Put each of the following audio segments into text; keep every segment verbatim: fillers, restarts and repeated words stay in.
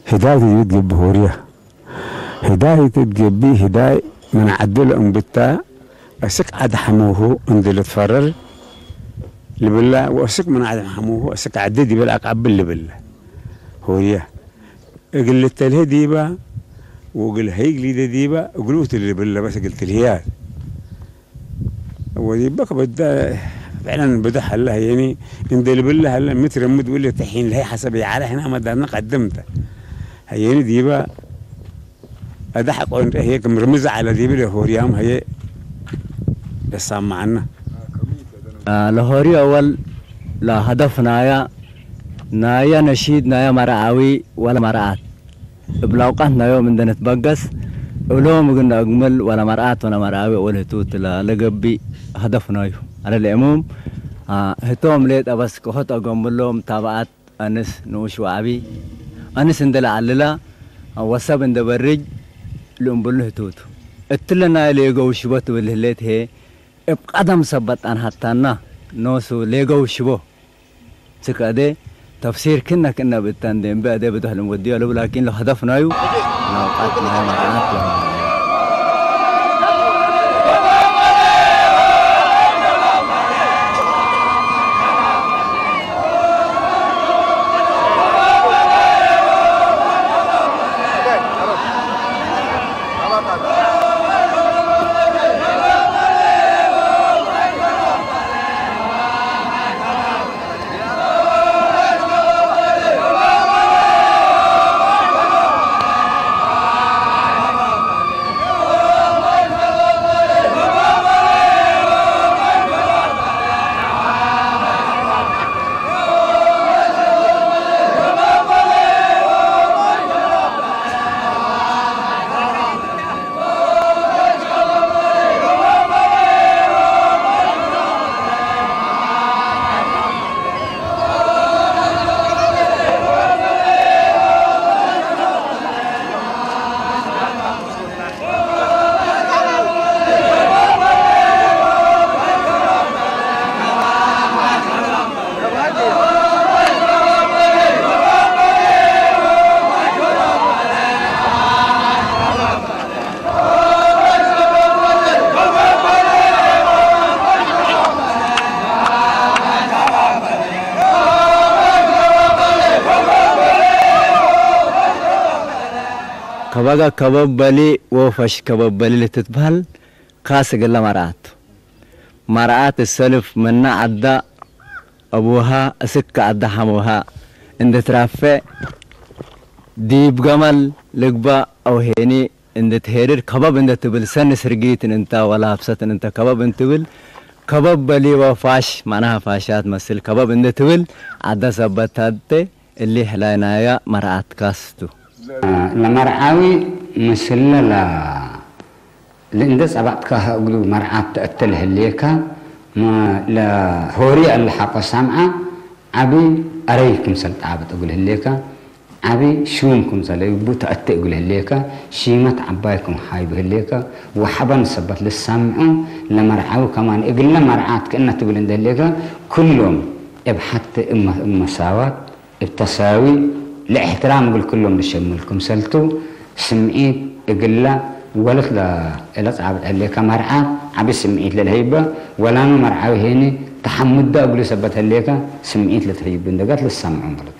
ህዳይ ዲብ ትገብእ ሆርያ። ህዳይ እት ትገብእ ህዳይ ምን ዐዱ ለእንብታ፣ አስክ ዐድ ሐሙሁ እንዴ ልትፈረር ልብላ፣ ወአስክ ምን ዐድ ሐሙሁ አስክ ዐዲ ዲበ ለአቃብል ልብላ። ሆርያ እግል ልተልሄ ዲባ ወእግል ሀይግ ሊደ ዲባ እግሉ እት ልብላ በስ እግል ትልህያት። ወዲበ ከበዳ ፍዕለን ብደሕ ሀለ፣ ሀየኒ እንዴ ልብለ ሀለ፣ ምትረምድ ውለ ተሒን ለሀይ ሐሰብ የዓለ ሕና መዳድነ ቀድምተ። ሀየኒ ዲበ አዳሕ ቆንጠ ህዬ ክም ርምዝ ዐለ ዲብለ ሆርያም ሀየ ለሳምዐነ። ለሆርዮ አወል ለሀደፍ ናያ፣ ናያ ነሺድ ናያ መርዓዊ ወለ መርዓት። እብ ለአውቃት ናዮም እንዴ ንትበገስ፣ እሎም እግል ነአግምል ወለመርዓት ወለመርዓዊ ወለህቱ እት ለገብእ ሀደፍ ናዩ። ዐለ ለእሙም፣ አ፣ ህቶም ሌጠ በስ ከሆት አገምሎም ታብዐት አንስ ንኡሽ ወዐቢ፣ አንስ እንዴ ለዐልላ ወሰብ እንዴ በርጅ ልእምብሉ ህቱ ቱ። እትለ ናይ ሌገው ሽቦ ትብል ህሌት ህዬ፣ እብ ቀደም ሰበት አንሀታና ኖሱ ሌገው ሽቦ። ስክ አዴ ተፍሲር ክነ ክእነ ብእተ እንዴ እምቢ አዴ ብዶሕ ልንወድዮ ለቡ ላኪን ለሀደፍ ናዩ ለአውቃት ናይ መርዓት ወ ከበጋ ከበብ በሊ ወፈሽ ከበብ በሊ ልትትበህል ካስ እግለ መርዓት። መርዓት እሰልፍ ምነ ዐዳ አቡሃ እስክ ዐዳ ሐሙሃ እንዴ ትራፌ ዲብ ገመል ልግበእ አው ሄኒ እንዴ ትሄድድ ከበብ እንዴ ትብል ሰኒ ስርጊትን እንተ ወላብሰትን እንተ ከበብ እንዴ ትብል ከበብ በሊ ወፋሽ፣ መዕናሃ ፋሻት መስል ከበብ እንዴ ትብል ዐዳ ሰበት ታዴ እሊ ሕላይ ናያ መርዓት ካስ ቱ። ለመርዓዊ ምስለ ለ-፣ ለእንዴ ጸበጥካህ እግሉ መርዓት ተአቴ ለህሌከ፣ መ-፣ ለሆሪ እለ ሐቆ ሳምዐ ዐቢ አረይ ክምሰል ጣብጥ እግል ህሌከ፣ ዐቢ ሹም ክምሰለ እቡ ተአቴ እግል ህሌከ፣ ሺመት ዐባይ ክም ሀይብ ህሌከ፣ ወሐበን ሰበት ልሳምዑ ለመርዓዊ ከማን እግለ መርዓት ክእነ ትብል እንዴ ህሌከ፣ ክሎም እብ ሐቲ እብ መ-፣ እብ መሳዋት እብ ተሳዊ ለእሕትራም እግል ክሎም ልሸምል ክምሰልቱ፣ ስምዒት እግለ ወለት ለ-፣ ለጻብጥ ህሌከ መርዓት ዐቢ ስምዒት ለልሀይበ፣ ወላመ መርዓዊ ሄኒ ተሐምደ እግሉ ሰበት ህሌከ ስምዒት ለትሀይብ እንደገት ልሰምዑ ማለት።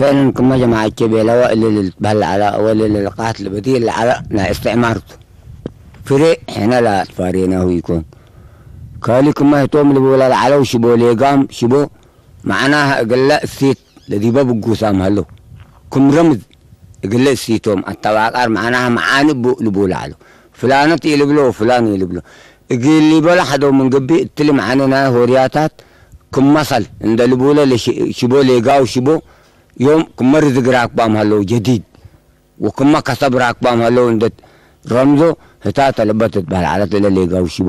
ምን ክመ ጀማዐቼ ቤለወ እሊ ልትበህል ለዐለ ወእሊ ልልቃት ልበዲል ለዐለ ናይ እስትዕማር ቱ። ፍሬ ሕነ ለአትፋሬናሁ ኢኮን። ካሊ ክመ ህቶም ልቡለ ለዐለው ሽቦ ሌጋም ሽቦ፣ መዕናህ እግለ እሲት ለዲበ ብጉሳም ሀለው። ክም ረምዝ እግለ እሲቶም አተባቃር መዕናህ መዓኒ እቡ ልቡለ ዐለው። ፍላነት ኢልብሎ ወፍላን ኢልብሎ። እግል ሊበሎ ሐደው ምን ገብእ እትሊ መዓኒ ናይ ሆርያታት ክም መሰል እንደ ልቡለ ለሽ-፣ ሽቦ ሌጋው ሽቦ ዮም ክመ ርዝግ ራክባም ሀለው ጀዲድ። ወክመ ከሰብ ራክባም ሀለው እንዴ ረምዞ ህታተ ለበ ትትበህል ዐለት እለ ሌጋው ሽቦ።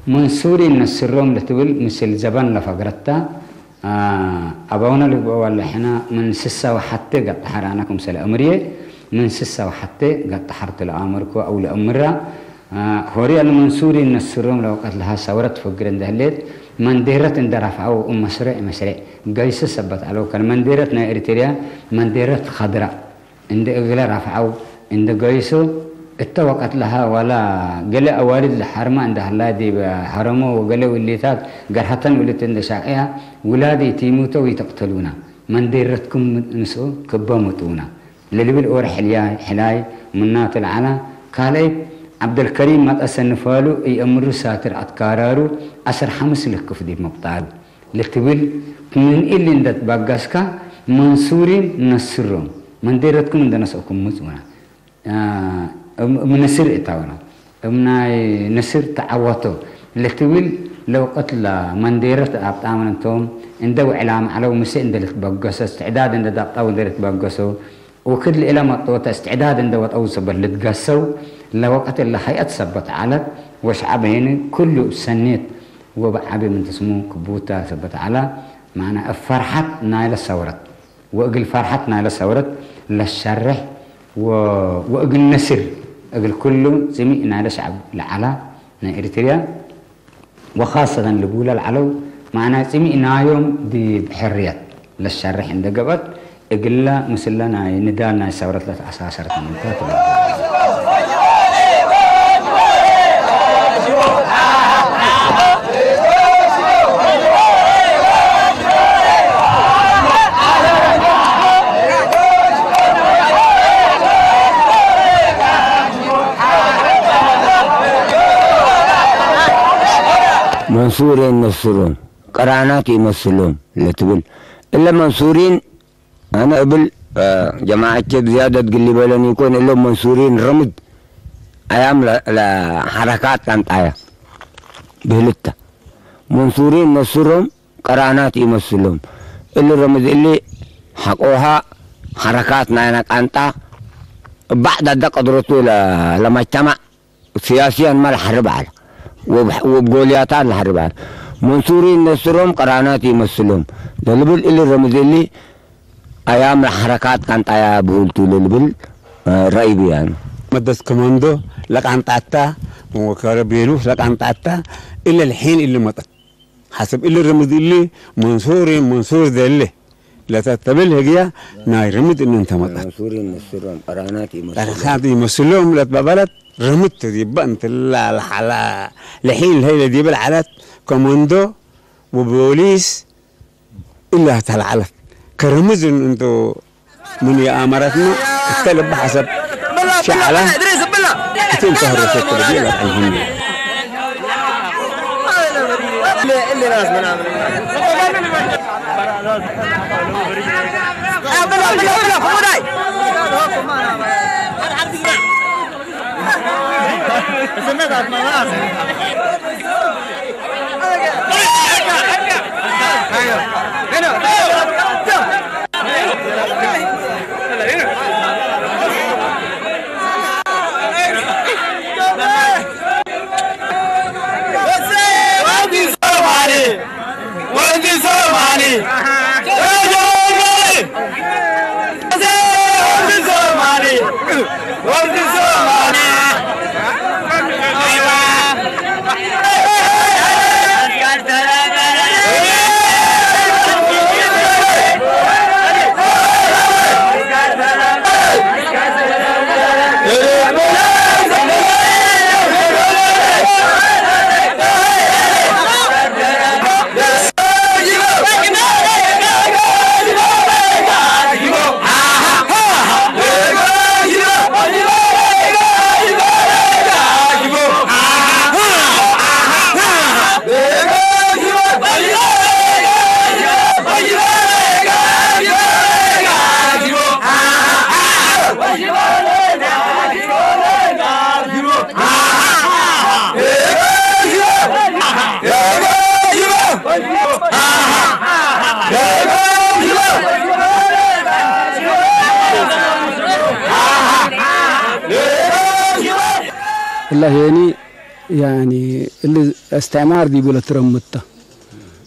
መንሱሪን ነስሮም ለትብል ምስል ዘበን ለፈግረታ፣ አ፣ አበውነ ልግበእ ወለ ሕነ ምን ስሰ ወሐቴ ገጠሐር አነ ክምሰል አምርዬ ምን ስሰ ወሐቴ ገጠሐር ቱ ለአመርኮ አው ለአምራ፣ አ፣ ሆርያ ለመንሱሪን ነስሮም ለወቀት ለሃ ሰውረት ፈግር እንዴ ህሌት መንዴረት እንዴ ረፍዐው እብ መስሬዕ መስሬዕ ገይሶ ሰበት ዐለው። ከን መንዴረት ናይ ኤሪትርያ መንዴረት ከድራ እንዴ እግለ ረፍዐው እንዴ ገይሶ፣ እተ ወቀት ለሀ ወላ ገሌ አዋልድ ለሐርመ እንዴ ሀላ ዲብ ሐረሞ ወገሌ ውሊታት ገርሀተን ውልት እንዴ ሻቅያ፣ ውላድ ኢቲሙተ ወኢተቅተሉነ፣ መንዴረትኩም ምስኡ ክበ ምጡነ ለልብል ኦር ሕልያይ ሕላይ ምናቱ ለዐላ። ካልአይት ዐብደልከሪም መጠሰ ንፋሉ ኢአምሩ ሳትር አትካራሩ አስር ሐምስ ልክፍ ዲብ ምቅጣሉ። ለትብል ምን እሊ እንዴ ትበገስከ መንሱሪን ነስሮም መንዴረትኩም እንዴ ነስአኩም ምጹነ። አ፣ እም፣ እም ንስር እታውነ። እም ናይ ንስር ተዐወቶ ለትብል ለውቀት ለመንዴረት አብጣምን እንቶም እንዴ ውዕላም ዐለው ምሰ እንዴ ልትበገሶ፣ እስትዕዳድ እንዴ ዳብጣው እንዴ ልትበገሶ፣ ወክድ ለእለ መጦተ እስትዕዳድ እንዴ ወጠው ሰበት ልትገሰው ለወቀት እለ ሀይአት ሰበት ዐለት ወሸዐብ ሄኒ ኩሉ እብ ሰኔት ወበዐቢ ምን ትስሙ ክቡታ ሰበት ዐለ። ማዕና እብ ፈርሐት ናይለ ሰውረት ወእግል ፈርሐት ናይለ ሰውረት ለሸርሕ ወ-፣ ወእግል ነስር እግል ኩሉ ጽሚእ ናይለ ሸዐብ ለዐላ ናይ ኤሪትርያ ወኻሰተን ልቡለ ለዐለው ማዕናይ ጽሚእ ናዮም ዲብ ሕርየት ለሸርሕ እንዴ ገብአት፣ እግለ ምስለ ናይ ንዳል ናይ ሰውረት ለተአሳሰረት ምንተ ትበል። መንሱሬን ነስሮም ቅራናት ኢመስሎም ለትብል። እለ መንሱሪን፣ አነ እብል፣ አ፣ ጀማዐቼ ብዝያደት ግል ሊበለኒ ኢኮን፣ እሎም መንሱሪን ረምድ አያም ለ-፣ ለሐረካት ቀንጣያ ብህልተ። መንሱሪን ነስሮም ቅራናት ኢመስሎም። እሊ ረምድ እሊ ሐቆሃ ሐረካት ናይነ ቀንጣ እብ ባዕድ አደ ቀድረቱ ለ-፣ ለመጅተማዕ ሲያሲየን መ ለሐርብ ዐለ፣ ወብ-፣ ወብ ጎልያታት ለሐርብ ዐለ። መንሱሪን ነስሮም ቅራናት ኢመስሎም ለልብል እሊ ረምዝ እሊ አያም ለሐረካት ቀንጣያ ብሁል ቱ ለልብል፣ እ፣ ረአይ ብያኑ። መደት ከመንዶ ለቃንጣታ ወከረ ቤሉስ ለቃንጣታ እለ ለሒን እሊ መጠት። ሐሰብ እሊ ረምዝ እሊ መንሱሪን መንሱር ደለ። ለተተብል ህግያ ናይ ርምድ እኑ እንተ መጠት። መንሱሪን ነስሮም ቅራናት ኢመስሎም። ቅራናት ኢመስሎም ለትበበለት ርምድ ዲበ እንትላ ለሐላ ለሒን ለሀይ ለዲበ ለዐለት ኮመንዶ ወቦሊስ እላ ተለዐለት። ከርምዝ እኑ እንቱ ምን የአመረትመ እተ ልበ ሐሰብ ሸዐለ እት እንተ ህረሰት ለዲበ ለአልህምዱ። ለሄኒ፣ ያኒ፣ እሊ እስትዕማር ዲቡ ለትረምድ ተ።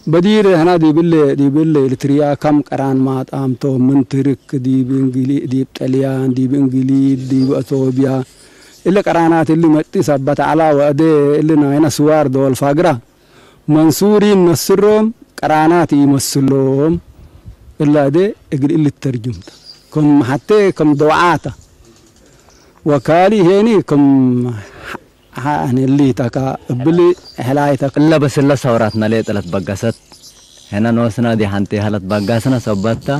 በዲር ህና ዲብለ፣ ዲብለ ኢልትርያ ከም ቀራን ማጣምቶ፣ ምን ትርክ ዲብ እንግሊ-፣ ዲብ ጠልያን፣ ዲብ እንግሊዝ፣ ዲብ አቶብያ፣ እሊ ቀራናት እሊ መጢ ሰበት ዐላ ወአዴ እሊ ናይነ ስዋር ዶል ፋግራ መንሱሪን ነስሮም ቀራናት ኢመስሎም። እለ አዴ እግል እሊ ተርጅምተ። ክም ሐቴ ክም ደውዓተ ወካሊ ሄኒ ክም ሐ-፣ ሐ-፣ እሊ ተካ እብሊ ሕላይተ። እለ በስለ ሰውራትነ ሌጠ ለትበገሰት፣ ሕነ ኖስና ዲ ሐንቴሀ ለትበገስነ ሰበት ተ፣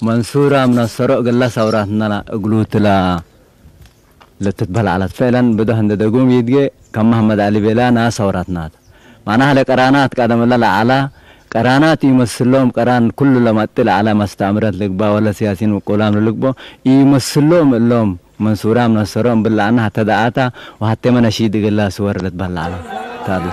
መንሱራም ነሰሮ እግለ ሰውራትነ እግሉትላ። ለትትበህል ዐለት። ፈዕለን ብዶህ እንዴ ደጉም ይድጌ፣ ከም መሐመድ ዐሊ ቤላ ናስ ሰውራትናት። ማዕናህ ለቀራናት ቀደም እለ ለዐላ፣ ቀራናት ኢመስሎም፣ ቀራን ኩሉ ለመጤ ለዐለ መስተዕምረት ልግባ ወለ ሲያሲን ውቁላም ለልግቦ ኢመስሎም እሎም፣ መንሱራም ነሰሮ እምብል ለዐነ ሐቴ ደአታ ወሐቴመ ነሺድ እግላ ስወር ለትበህል ዐለ። ታብለ።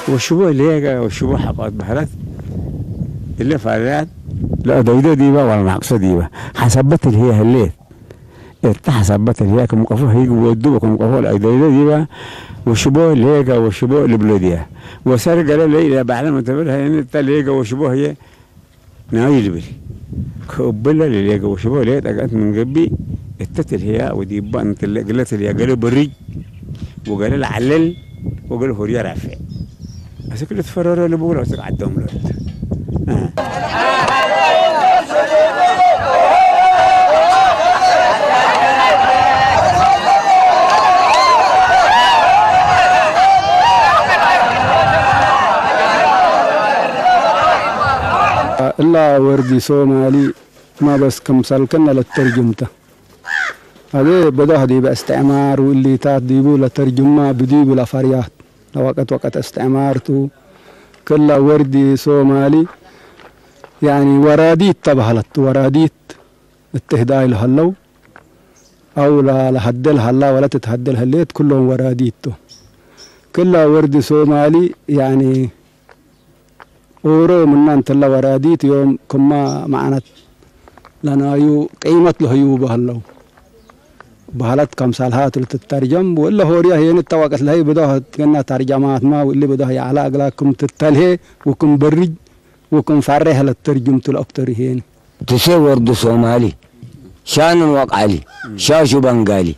ወሽቦ ሌገ ወሽቦ ሐቆት በህለት እለ ፋርያት ለአደይዶ ዲበ ወለናቅሶ ዲበ ሐሰበት እልህየ ህሌት። እተ ሐሰበት እልህየ ክም ቀፎ ህይግ ወዱ ወክም ቀፎ ለአደይዶ ዲበ ወሽቦ ሌገ ወሽቦ ልብሎ ዲያ። ወሰር ገለ ለይለ ባዕለ መተብል ሀይን እተ ሌገ ወሽቦ ህየ ናዩ ልብል። ከእብለ ለሌገ ወሽቦ ሌጠ ገአት ምን ገብእ እተ ትልህያ ወዲባ እንተ እግለ ትልህያ ገሌ በርጅ ወገሌ ለዐለል ወገሌ ሆርያ ራፍዕ። አስክ ልትፈረሮ ልብሎ አስክ ዐዶም ሎት። እላ ወርዲ ሶማሊ ማ በስ ክምሰልክነ ለተርጅምተ። አዜ በዶህ ዲበ እስትዕማር ወእሊታት ዲቡ ለተርጅማ ብዲቡ ለፈርያት ለወቀት ወቀት እስትዕማር ቱ። ክለ ወርዲ ሶማሊ ያኒ ወራዲት ተበህለት። ወራዲት እት ህዳይ ለሀለው አው ለ-፣ ለሀደል ሀላ ወለ ትትሀደል ህሌት ኩሎም ወራዲት ቱ። ክለ ወርዲ ሶማሊ ያኒ ኦሮ ምና እንተ ለወራዲት ዮም ክመ መዕነት ለናዩ ቅይመት ለህዩ በህለው። በህለት ከምሰልሃ ቱ ልትተርጀም ወእለ ሆርያ ህዬን እተ ወቅት ለህይ ብዶህ ትገና ተርጀማትመ ወእሊ ብዶህ የዐለ እግላ ክም ትተልሄ ወክም በርጅ ወክም ፈሬህ ለተርጅምቱ ለአክተር ህዬን። ትሴ ወርዱ ሶማሊ፣ ሻንን ወቃሊ፣ ሻሹ በንጋሊ።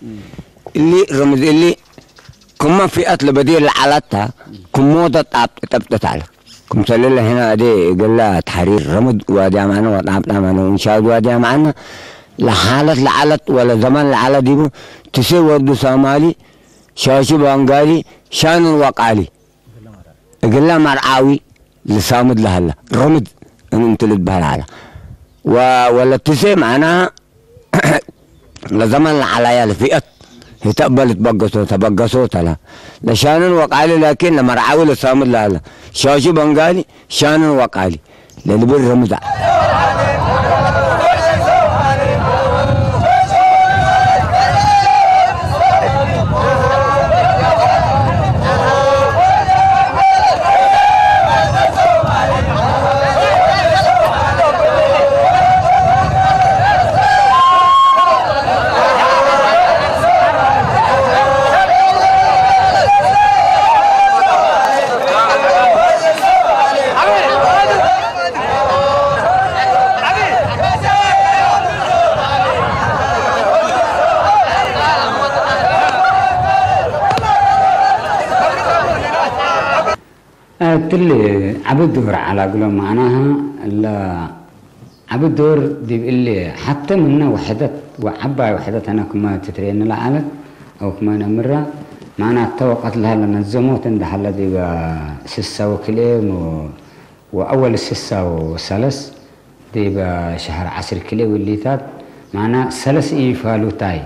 እሊ ረምዝ እሊ ክመ ፊአት ለበዲር ለዐለት ተ፣ ክሞተ ጣብጥ ጠብጥት ዐለ። ክምሰልለ ህነ አዴ እግለ ተሕሪር ረምድ ዋዲ አማነ ወጣብጣም አነ ወእንሻድ ዋዲ አማነ ለሓለት ለዐለት ወለ ዘመን ለዐለ ዲቡ ትሴ ወርዱ ሶማሊ፣ ሻሹ በንጋሊ፣ ሻንን ወቃሊ። እግለ መርዓዊ ልሳምድ ለሀለ ረምድ እን እንቱ ልትበህል ዐለ። ወ-፣ ወለትሴ መዕናሀ ለዘመን ለዐላያ ለፊአት ህተ እበ ልትበገሶ ተበገሶ ተለ። ለሻንን ወቃሊ ላኪን ለመርዓዊ ልሳምድ ለሀለ ሻሹ በንጋሊ ሻንን ወቃሊ ለልብል ረምድ ዐለ። እትሊ ዐቢ ዶር ዐላ እግሎም፣ መዕናሀ እለ ዐቢ ዶር ዲብ እሊ ሐቴ ምነ ውሕደት ወዐባይ ውሕደት ሕነ ክመ ትትርኤኒ ለዐለት አው ክመ ነአምራ፣ መዕናተ ወቀት ለሀለ ነዘሞት እንደ ሀለ ዲበ ስሳ ወክልኤ ወአወል ስሳ ወሰለስ ዲበ ሸህር ዐስር ክልኤ ውሊታት፣ መዕና ሰለስ ኢፋሉታይ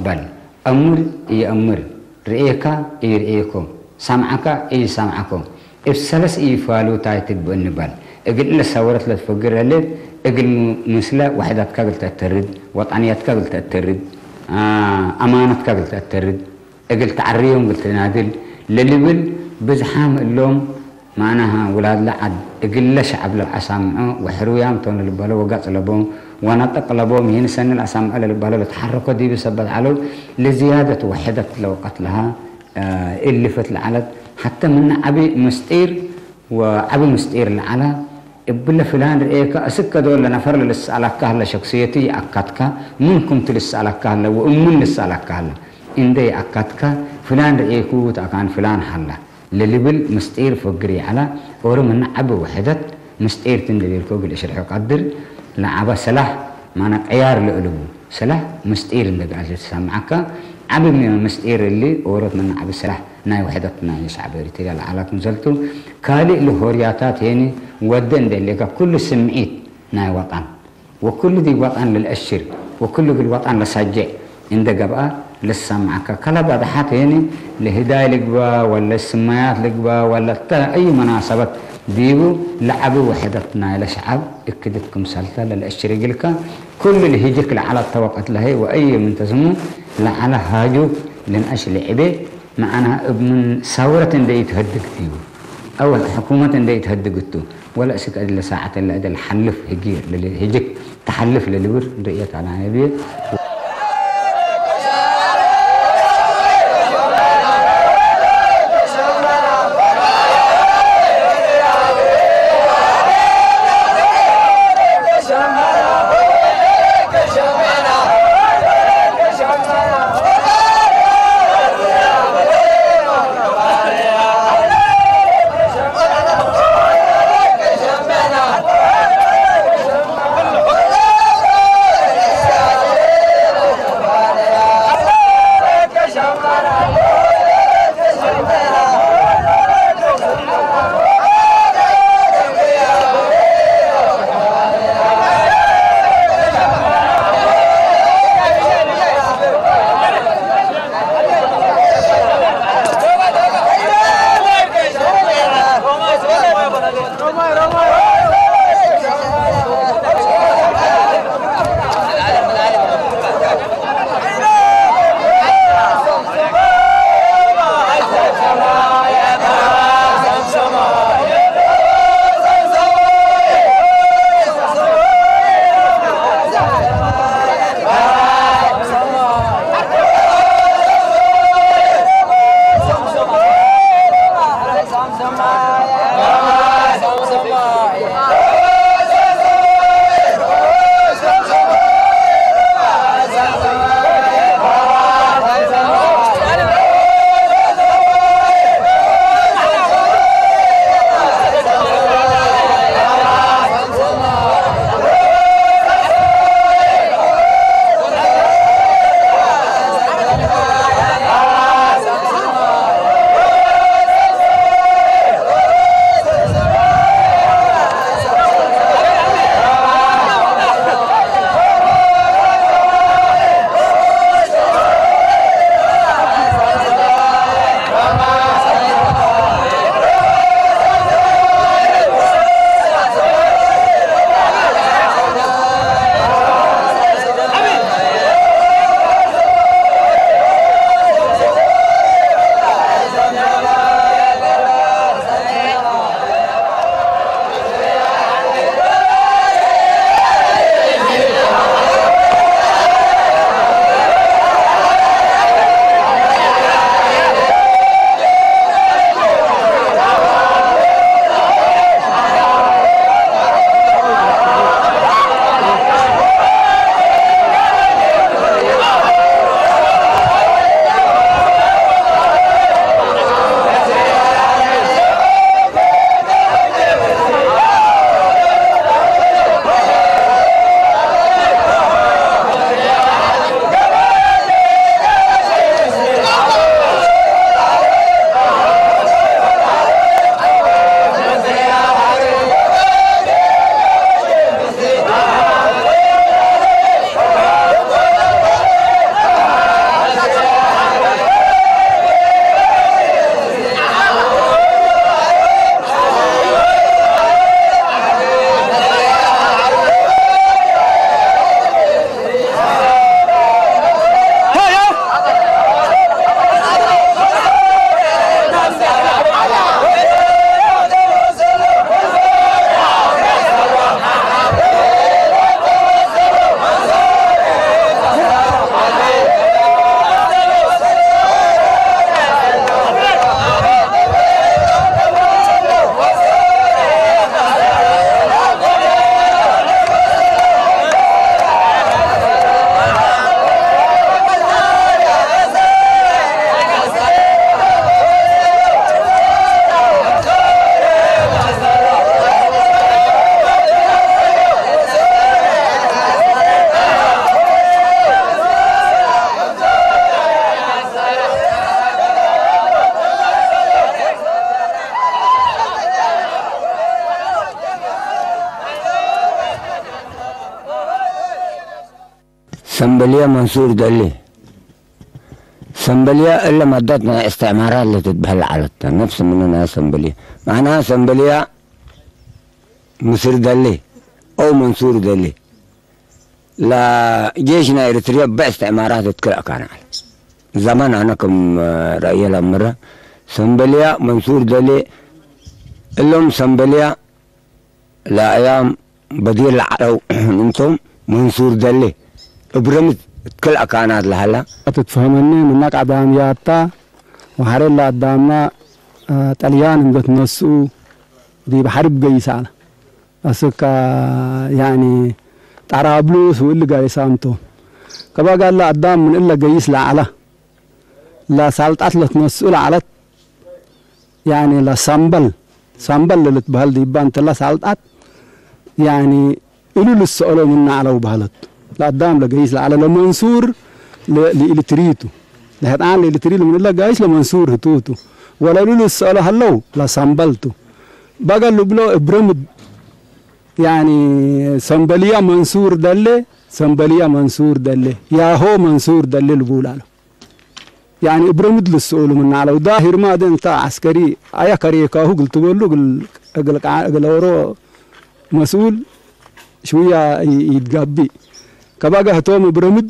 በል፣ አምር ኢአምር፣ ርኤካ ኢርኤኮ፣ ሰምዐካ ኢሰምዐኮ፣ እብ ሰለስ ኢፋሉታይ ትግበእኒ በል። እግል እለ ሰወረት ለትፈግር ህሌት፣ እግል ሙ-፣ ምስለ ወሕደትካ እግል ተአተርድ፣ ወጠንየትካ እግል ተአተርድ፣ አ-፣ አማነትካ እግል ተአተርድ፣ እግል ተዐርዮም እግል ትናድል ለልብል ብዝሓም እሎም፣ ማዕናሃ ውላድ ለዐድ እግለ ሸዐብ ለአሳምዖ ወሕሩያም ቶም ለልበሎ ወገጽ ለቦም ወነጠቅ ለቦም ይህን ሰኒ ለአሳምዖ ለልበሎ ለተሐረኮ ዲብ ሰበት ዐለው። ለዝያደት ወሕደት ለወቀት ለሃ እልፈት ለዐለት ሐተ ምነ ዐቢ ምስጢር ወዐቢ ምስጢር ለዐለ፣ እብለ ፍላን ርኤከ፣ እስከ ዶል ለነፈር ለልሰአለከ ሀለ፣ ሸክስየቱ ይአካትከ፣ ምን ክምቱ ልሰአለከ ሀለ ወእሙን ልሰአለከ ሀለ። እንዴ ይአካትከ፣ ፍላን ርኤኩ ተአካን ፍላን ሀለ ለልብል ምስጢር ፍግር ይዐለ። ኦሮ ምነ ዐቢ ውሕደት ምስጢር ቲ እንዴ ቤልኮ እግል እሽርሖ ቀድር። ለዐበ ሰላሕ ማነ ቅያር ለእልቡ። ሰላሕ ምስጢር እንዴ ገአት ልትሰምዐከ፣ ዐቢ ሚ-፣ ምስጢር እሊ ኦሮት ምነ ዐቢ ሰላሕ ናይ ውሕደት ናይ ሸዕብ ኤሪትርያ ለዐለት ምሰልቱ፣ ካልእ ለሆርያታት ሄኒ ወደ እንዴ ህሌከ፣ ኩሉ ስምዒት ናይ ወጠን ወኩሉ ዲብ ወጠን ለልአሽር ወኩሉ እግል ወጠን ለሳጅዕ እንዴ ገብአ ልሰምዐከ። ከለ በደሐት ሄኒ ለህዳይ ልግበእ ወለ ስመያት ልግበእ ወለ እተ አዩ መናሰበት ዲቡ ለዐቢ ውሕደት ናይለ ሸዐብ እክድት ክምሰልተ ለልአሽር እግልከ። ኩሉ ለህጅክ ለዐለት ተወቀት ለሀይ ወአየ ምን ተስሙ ለዐለ ሃጁክ ልንአሽ ለዕቤ፣ መዐናሃ እብ ምን ሰውረት እንዴ ኢትሀድግ ዲቡ፣ አው ሕኩመት እንዴ ኢትሀድግ እቱ፣ ወለ እስክ እለ ሳዐት እለ እደ ለሐልፍ ህግየ ለልህጅክ ተሐልፍ ለልብል ርእየት አነ ብዬ። ሰምበልየ መንሱር ደሌ። ሰምበልየ እለ ማዳት ናይ እስትዕማራት ለትትበህል ለዐለት ተ። ነፍስ ምኑ ናይ ሰምበልየ። መዕናሃ ሰምበልየ ምስር ደሌ አው መንሱር ደሌ። ለጄሽ ናይ ኤሪትርየ በእስትዕማራት እት ክል አካን ዐለ። ዘመን አነ ክም ረአየ ለአምረ፣ ሰምበልየ መንሱር ደሌ። እሎም ሰምበልየ ለአያም በዲር ለዐለው እንቶም መንሱር ደሌ እብ ረምድ እት ክል አካናት ለሀላ። ትትፈሀመኒ ምነ ቀዳምያታ ወሐሬ ለአዳምና፣ አ፣ ጠልያን እንዴ ትነስኡ ዲብ ሐርብ ገይስ ዐለ። አስክ፣ ያኒ፣ ጣራብሉስ ወእሊ ጋይሳም ቶም። ከበ ጋለ አዳም ምን እለ ገይስ ለዐለ፣ ለሳልጣት ለትነስኡ ለዐለት፣ ያኒ፣ ለሳምበል፣ ሳምበል ለልትበህል ዲባ እንተ ለሳልጣት፣ ያኒ፣ እሉ ልሰአሎ ምነ ዐለው በህለት። ለአዳም ለገይስ ለዐለ ለመንሱር ለ-፣ ለኢልትሪቱ። ለህጣን ለኢልትሪ ለምን እለ ጋይስ ለመንሱር ህቱቱ። ወለእሉ ልሰአሎ ሀለው ለሳምበልቱ። በገ ልብሎ እብ ረምድ፣ ያኒ፣ ሰምበልያ መንሱር ደሌ፣ ሰምበልያ መንሱር ደሌ፣ ያሆ መንሱር ደሌ ልቡል ዐለው። ያኒ እብ ረምድ ልስኡሉ ምነ ዐለው። ዳሂር ማደ እንተ ዐስከሪ አየ ከሬካሁ እግል ትበሉ እግል፣ እግል ቃ-፣ እግል ኦሮ መስኡል ሽውያ ኢ-፣ ኢትጋብእ። ከበገ ህቶም እብ ረምድ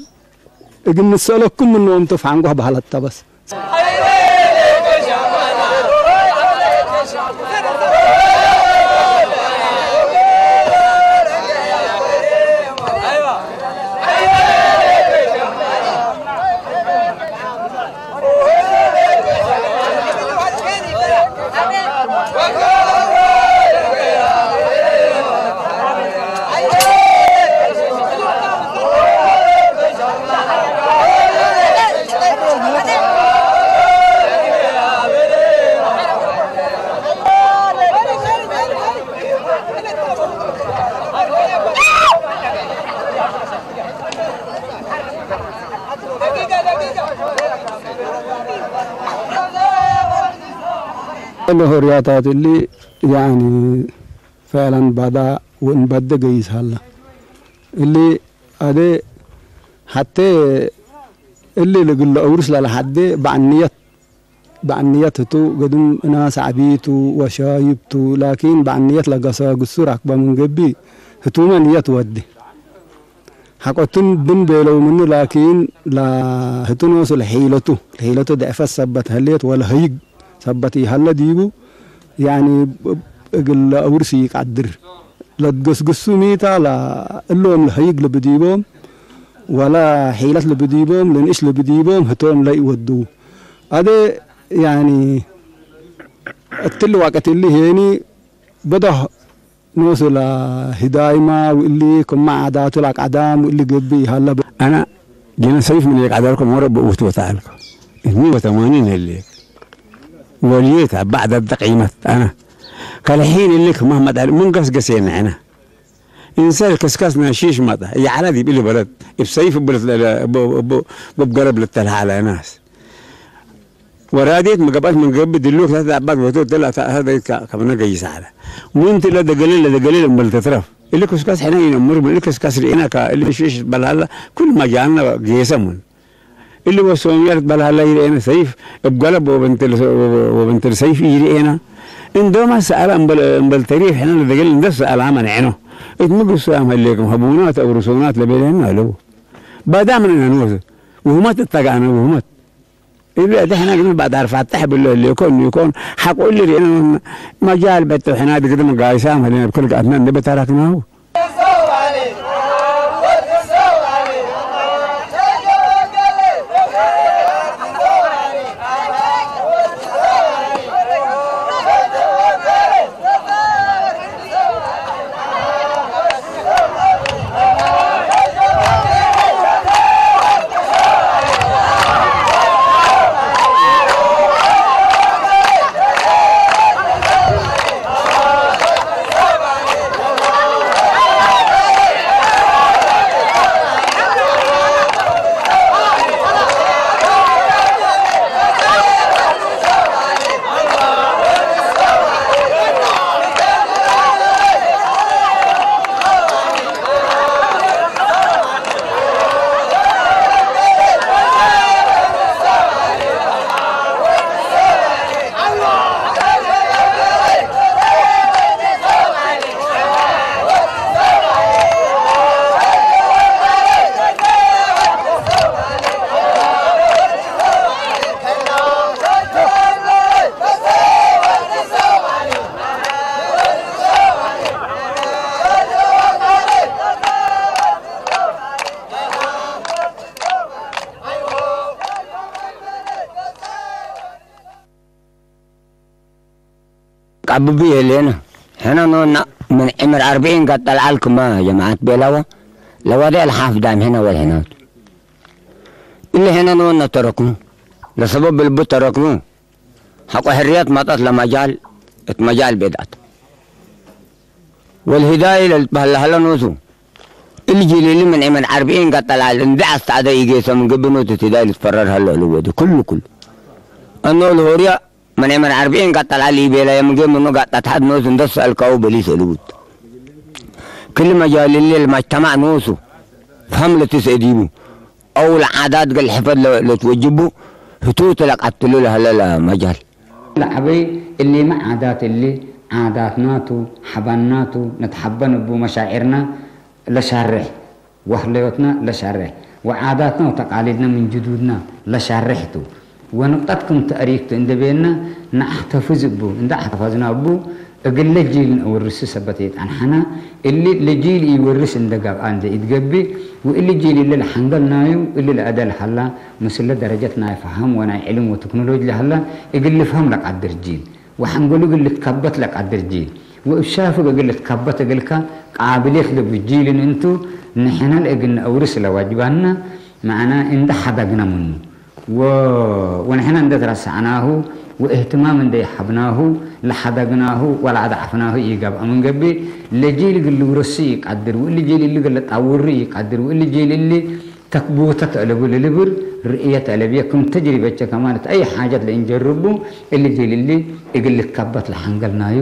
እግል ንሰአለኩም ምኖም ቱ ፈንጎህ በህለት ተ በስ። እሊ ሆርያታት እሊ፣ ያኒ፣ ፈዕለን ባዳ ወእንባደ ገይስ ሀለ። እሊ አዜ ሐቴ እሊ ለእግል ለአውርስ ለለሐዴ በዕንየት፣ በዕንየት ህቱ፣ ግድም እናስ ዐቢ ቱ ወሻይብ ቱ፣ ላኪን በዕንየት ለገሳግሱ ራክበ ምን ገብእ፣ ህቱመ ንየት ወዴ። ሐቆ እቱን ድን ቤለው ምኑ፣ ላኪን ለህቱ ኖሱ ለሒለቱ፣ ለሒለቱ ደዕፈት ሰበት ህሌት ወለሀይግ ሰበት ኢሀለ ዲቡ፣ ያኒ እግል ለአውርስ ኢቀድር። ለትገስግሱ ሚታ ለእሎም ለሀይግ ልብዲቦም፣ ወለ ሒለት ልብዲቦም፣ ለንእሽ ልብዲቦም ህቶም ለኢወዱ። አዜ ያኒ እትሊ ወቅት እሊ ሄኒ በዶሕ ኖሱ ለህዳይማ ወእሊ ክመ ዓዳቱ ለአቅዐዳም ወእሊ ገብእ ይሀለ። አነ ዲነ ሰይፍ ምን የቀደርኩ ሞረ ብእውት ወተዐልኩ። እኒ ወተማኒን ህሌክ ወልዬት አባዕ ደደ ቂመት አነ። ከለሒን እሊ ክመ መጠል ምን ገስገሴነ ሕነ። እንሰ ልክስከስ ናሺሽ መጠ። ይዐለ ዲብ እሊ በለድ እብ ሰይፍ እብ ልትለ-፣ እብ፣ እብ፣ እብ ገረብ ልተልሃለ ናስ። ወራዴት መገብአት ምን ገብእ ድሉክ ለተአባት ወቶ እተ ለአተአሰደይት ከ-፣ ከብነ ገይስ ዐለ። ምን ቲ ለደገሌ ለደገሌ እምበል ተትረፍ። እሊ ክስከስ ሕነ ኢነምር ምን እሊ ክስከስ ርኤነ ከእሊ ሽሽ በልሃላ ኩል መጃልነ ጌሰ ምን። እሊ ወሶምያ ልትበልሃላ ይርኤነ ሰይፍ እብ ገለብ ወበንትል፣ ወበንትል ሰይፍ ኢይርኤነ። እንዶመ ሰአለ እምበል፣ እምበል ተሪፍ ሕነ ለደገሌ እንደ ሰአላ መንዐኖ። እት ምግሱ ያም ህሌክም ሀቡናት አውርሶናት ለቤለነ አለው። ባዳ ምን እነ ንወስ ውህመት እተጋነ ውህመት። እብ አዜ ሕነ ግን ባዳር ፋተሕ ብሎ ህሌኮ እኒኮን ሐቆ እሊ ርኤነ መጃል በቶ ሕነ ድግድም ጋይሳም ህሌነ እብ ክል ገአትነ እንዴ በተረክናሁ። አብቢ ህሌነ። ሕነ ኖና ምን ዕምር አርብዒን ቀጠል ዐል ክመ ጀማዐት ቤላወ ለዋዴ አልሓፍ ዳም ሕነ ወልሕናቱ። እሊ ሕነ ኖና ተረክኑ። ለሰበብ ልቡ ተረክኑ። ሐቆ ሕርየት መጠት ለመጃል እት መጃል ቤድዐት። ወልሂዳይ ለልትበህል ለሀለ ኖሱ። እሊ ጂል እሊ ምን ዕምር አርብዒን ቀጠል ዐል እንዴ አስተዐደ ኢጌሰ ምን ገብእ ኖሱ እት ሂዳይ ልትፈረር ሀለ እሉ ወዲ። ክሉ ክሉ። እኖ ለሆርየ ምን ዕምር አርብዒን ቀጠል ዐል ኢቤለየ ምን ገብእ ምኑ ጋጣት ሐድ ኖሱ እንዴ ሰአልካሁ በሊስ እሉ ውድ። ክል መጃል እሊ ለመጅተማዕ ኖሱ ፈሀም ለትስኤ ዲቡ። አው ለዓዳት እግል ሕፈድ ለ-፣ ለትወጅቡ ህቱቱ ለቀትሉ ለሀለ ለመጃል። ለዐበይ እሊመ ዓዳት እሊ፣ ዓዳትናቱ፣ ሐባናቱ፣ ነትሐበን እቡ መሻዕርና ለሻሬሕ፣ ወህለዮትና ለሻሬሕ፣ ወዓዳትና ወተቃሊድና ምን ጅዱድና ለሻሬሕ ቱ። ወንቅጠት ክም ተእሪክ ቱ እንዴ ቤና፣ ነአሕተፍዝ እቡ፣ እንዴ አሕተፈዝና እቡ፣ እግለ ጂል ነአወርሱ ሰበት ኢጸንሐና፣ እሊ ለጂል ኢወርስ እንዴ ገብአ እንዴ ኢትገብእ፣ ወእሊ ጂል እሊ ለሐንገል ናዩ፣ እሊ ለአደ ለሀላ፣ ምስለ ደረጀት ናይ ፈሀም ወናይ ዕልም ወቴክኖሎጂ ለሀላ፣ እግል ልፍሀም ለቀድር ጂል፣ ወሐንገሉ እግል ልትከበት ለቀድር ጂል፣ ወእብ ሻፍግ እግል ልትከበት እግልከ ቃብልየት ለቡ ጂል እንቱ፣ ንሕነ ለእግል ነአውርስ ለዋጅባና፣ መዕና እንዴ ሐደግነ ምኑ። ወ-፣ ወንሕነ እንዴ ትረሰዕናሁ ወእህትማም እንዴ ሀብናሁ ለሐደግናሁ ወለአድዐፍናሁ ኢገብአ ምን ገብእ፣ ለጂል እግል ልውረሱ ኢቀድር፣ ወእሊ ጂል እሊ እግል ልጣውሩ ኢቀድር፣ ወእሊ ጂል እሊ ተክቡተት አለቡ ለልብል ርእየት አለብየ። ክም ተጅሪበቼ ከማለት አይ ሓጀት ለእንጀርቡ፣ እሊ ጂል እሊ እግል ልትከበት ለሐንገል ናዩ፣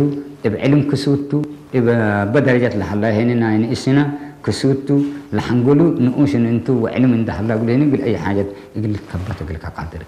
እብ ዕልም ክሱቱ፣ እብ በደረጀት ለሀላ ሄኒ ናይ ንእስነ ክሱቱ ለሐንገሉ ንኡሽን እንቱ ወዕልም እንደ ሀላ እግል ሄኒ እግል አይ ሓጀት እግል ልትከበት እግል ከቃድር።